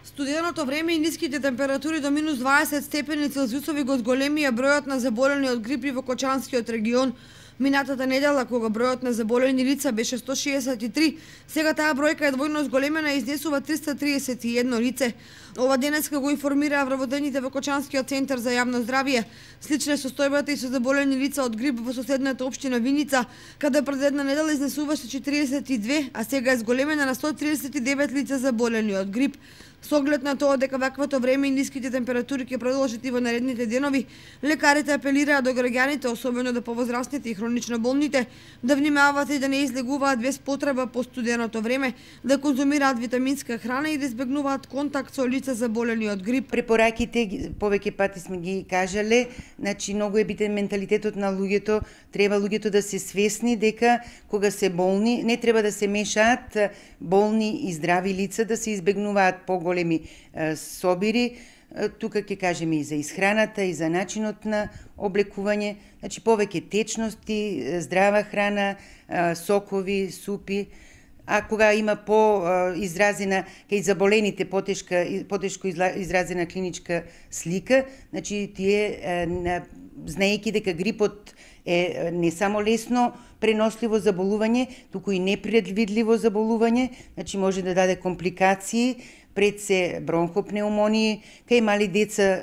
Студеното време и ниските температури до минус 20 степени Целзиусови го зголемија бројот на заболени од грип во Кочанскиот регион. Минатата недела, кога бројот на заболени лица беше 163, сега таа бројка е двојно зголемена и изнесува 331 лице. Ова денеска го информираа вработените во Кочанскиот центар за јавно здравје. Слична е состојбата и со заболени лица од грип во соседната општина Виница, каде пред една недела изнесуваше 42, а сега е зголемена на 139 лица заболени од грип. Со оглед на тоа дека ваквото време и ниските температури ќе продолжат и во наредните денови, лекарите апелираат до граѓаните, особено до повозрастните и хронично болните, да внимаваат и да не излегуваат без потреба по студеното време, да конзумираат витаминска храна и да избегнуваат контакт со лица заболени од грип. Препораките повеќе пати сме ги кажале, значи многу е битен менталитетот на луѓето, треба луѓето да се свесни дека кога се болни не треба да се мешаат болни и здрави лица, да се избегнуваат поголеми собири. Тука ќе кажеме и за исхраната и за начинот на облекување, значи повеќе течности, здрава храна, сокови, супи. А кога има по-изразена, кај заболените потешко изразена клиничка слика, значи тие, знаејќи дека грипот е не само лесно преносливо заболување, туку и непредвидливо заболување, значи може да даде компликации, пред се бронхопнеумонии, кај мали деца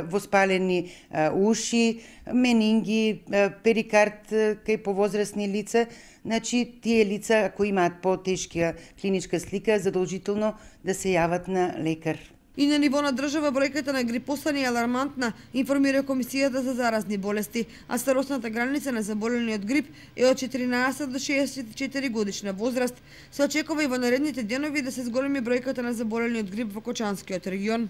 воспалени уши, менинги, перикард кај повозрастни лица. Значи, тие лица, ако имаат по-тешка клиничка слика, задолжително да се јават на лекар. И на ниво на држава бројката на грипосани е алармантна, информира Комисијата за заразни болести, а старосната граница на заболени од грип е од 14 до 64 годишна возраст. Се очекува и во наредните денови да се зголеми бројката на заболени од грип во Кочанскиот регион.